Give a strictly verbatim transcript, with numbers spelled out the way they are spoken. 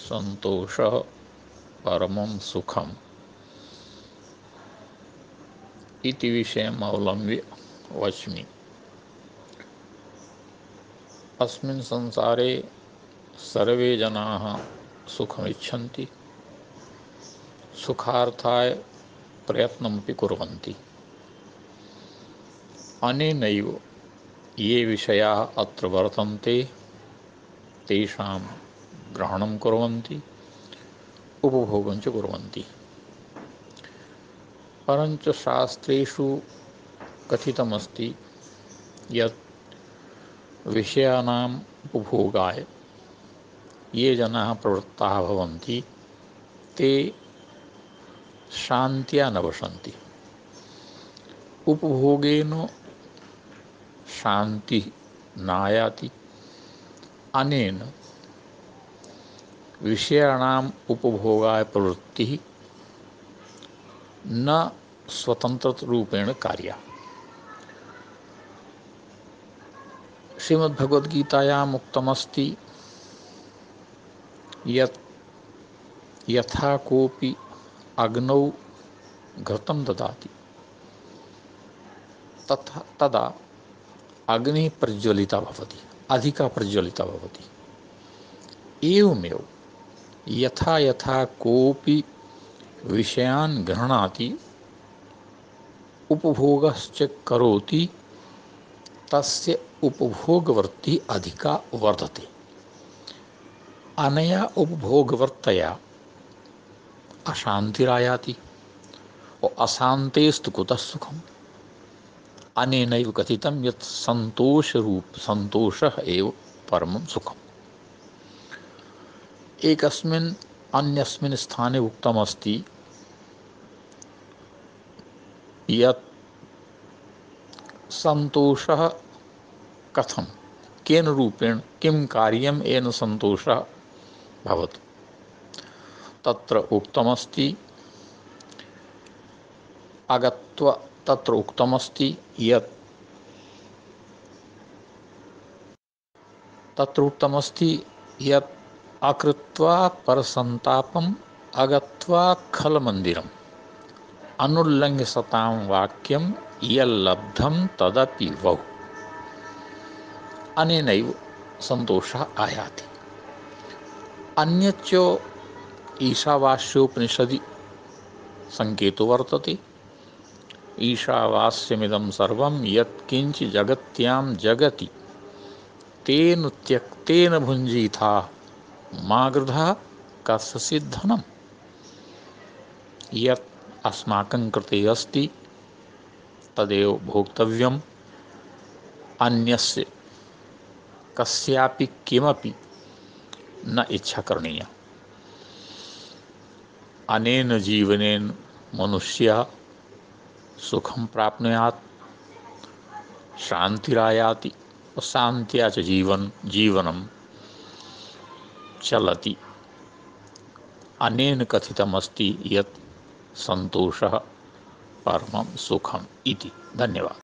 संतोषः परमं सुखम् इति विषयम् अवलम्ब्य वच्मि। अस्मिन् संसारे सर्वे जनाः सुखमिच्छन्ति, सुखार्थाय प्रयत्नमपि कुर्वन्ति। अनेनैव ये विषयाः अत्र वर्तन्ते तेषां ग्रहणं कुर्वन्ति, उपभोगं च कुर्वन्ति। परञ्च शास्त्रेषु कथितमस्ति यत् विषयाणाम् उपभोगाय ये जनाः प्रवृत्ताः भवन्ति ते शान्त्या न वसन्ति। उपभोगेन शान्तिः नायाति। अनेन विषयाणाम् उपभोगाय प्रवृत्तिः न स्वतन्त्ररूपेण कार्या। श्रीमद्भगवद्गीतायाम् उक्तमस्ति यत् यथा कोऽपि अग्नौ घृतं ददाति तथा तदा अग्निः प्रज्वलिता भवति, अधिका प्रज्वलिता भवति। एवमेव यथा यथा कोऽपि विषयान् गृह्णाति उपभोगश्च करोति तस्य उपभोगवृत्तिः अधिका वर्धते। अनया उपभोगवृत्तया अशान्तिरायाति और अशान्तेस्तु कुतः सुखम्। अनेनैव कथितं यत् सन्तोषरूप सन्तोषः एव परमं सुखम्। एकस्मिन् अन्यस्मिन् स्थाने उक्तमस्ति यत् सन्तोषः कथं, केन रूपेण, किं कार्यं येन सन्तोषः भवति। तत्र उक्तमस्ति अगत्वा तत्र उक्तमस्ति यत् तत्र उक्तमस्ति यत् अकृत्वा परसन्तापम् अगत्वा खलमन्दिरम् अनुल्लङ्घ्य सतां वाक्यं यल्लब्धं तदपि वहु। अनेनैव सन्तोषः आयाति। अन्यच्च ईशावास्योपनिषदि संकेतो वर्तते। ईशावास्यमिदं सर्वं यत्किञ्च जगत्यां जगति तेन त्यक्तेन भुञ्जीथा मा गृधा कस्यचित् धनम्। यत् अस्माकं कृते अस्ति तदेव भोक्तव्यम्, अन्यस्य कस्यापि किमपि न इच्छा करणीया। अनेन जीवनेन मनुष्यः सुखं प्राप्नुयात्, शान्तिरायाति और शान्त्या च जीवन जीवनं चलति। अनेन कथितमस्ति यत् सन्तोषः परमं सुखम् इति। धन्यवादः।